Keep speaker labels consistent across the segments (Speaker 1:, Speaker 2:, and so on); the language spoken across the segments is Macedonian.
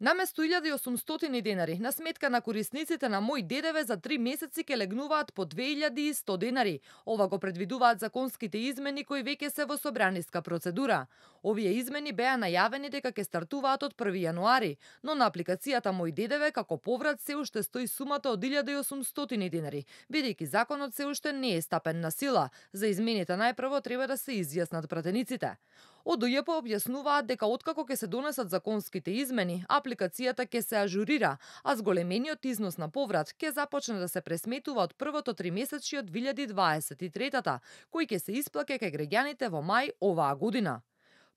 Speaker 1: Наместо 1800 денари, на сметка на корисниците на Мој ДДВ за 3 месеци ке легнуваат по 2100 денари. Ова го предвидуваат законските измени кои веќе се во собраниска процедура. Овие измени беа најавени дека ќе стартуваат од 1 јануари, но на апликацијата Мој ДДВ како поврат се уште стои сумата од 1800 денари, бидејќи законот се уште не е стапен на сила. За измените најпрво треба да се изјаснат пратениците. Од УЈП објаснуваат дека откако ќе се донесат законските измени, апликацијата ќе се ажурира, а зголемениот износ на поврат ќе започне да се пресметува од првото тримесечје од 2023-та, кој ќе се исплаќа кај граѓаните во мај оваа година.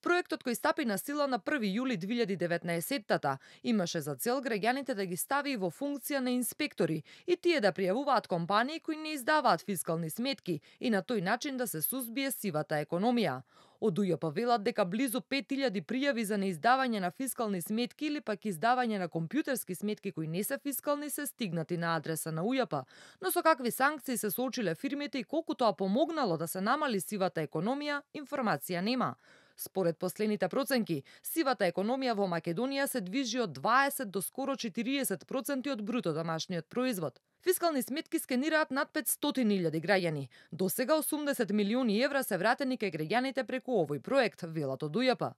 Speaker 1: Проектот кој стапи на сила на 1 јули 2019-та имаше за цел граѓаните да ги стави во функција на инспектори и тие да пријавуваат компании кои не издаваат фискални сметки и на тој начин да се сузбие сивата економија. Од УЈП велат дека близу 5000 пријави за неиздавање на фискални сметки или пак издавање на компјутерски сметки кои не се фискални се стигнати на адреса на УЈП, но со какви санкции се соочиле фирмите и колку тоа помогнало да се намали сивата економија, информација нема. Според последните проценки, сивата економија во Македонија се движи од 20 до скоро 40% од бруто домашниот производ. Фискални сметки скенираат над 500.000 граѓани. До сега 80 милиони евра се вратени кај граѓаните преку овој проект, велат од УЈП.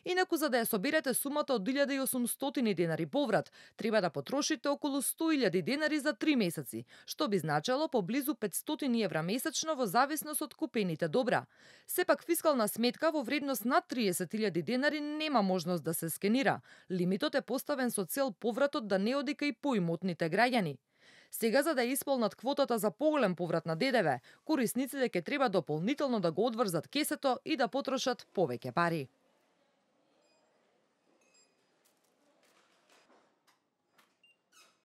Speaker 1: Инаку за да ја соберете сумата од 1800 денари поврат, треба да потрошите околу 100.000 денари за 3 месеци, што би значело поблизу 500 евра месечно во зависност од купените добра. Сепак фискална сметка во вредност над 30.000 денари нема можност да се скенира. Лимитот е поставен со цел повратот да не оди кај поимотните граѓани. Сега, за да исполнат квотата за поголем поврат на ДДВ, корисниците ќе треба дополнително да го одврзат кесето и да потрошат повеќе пари.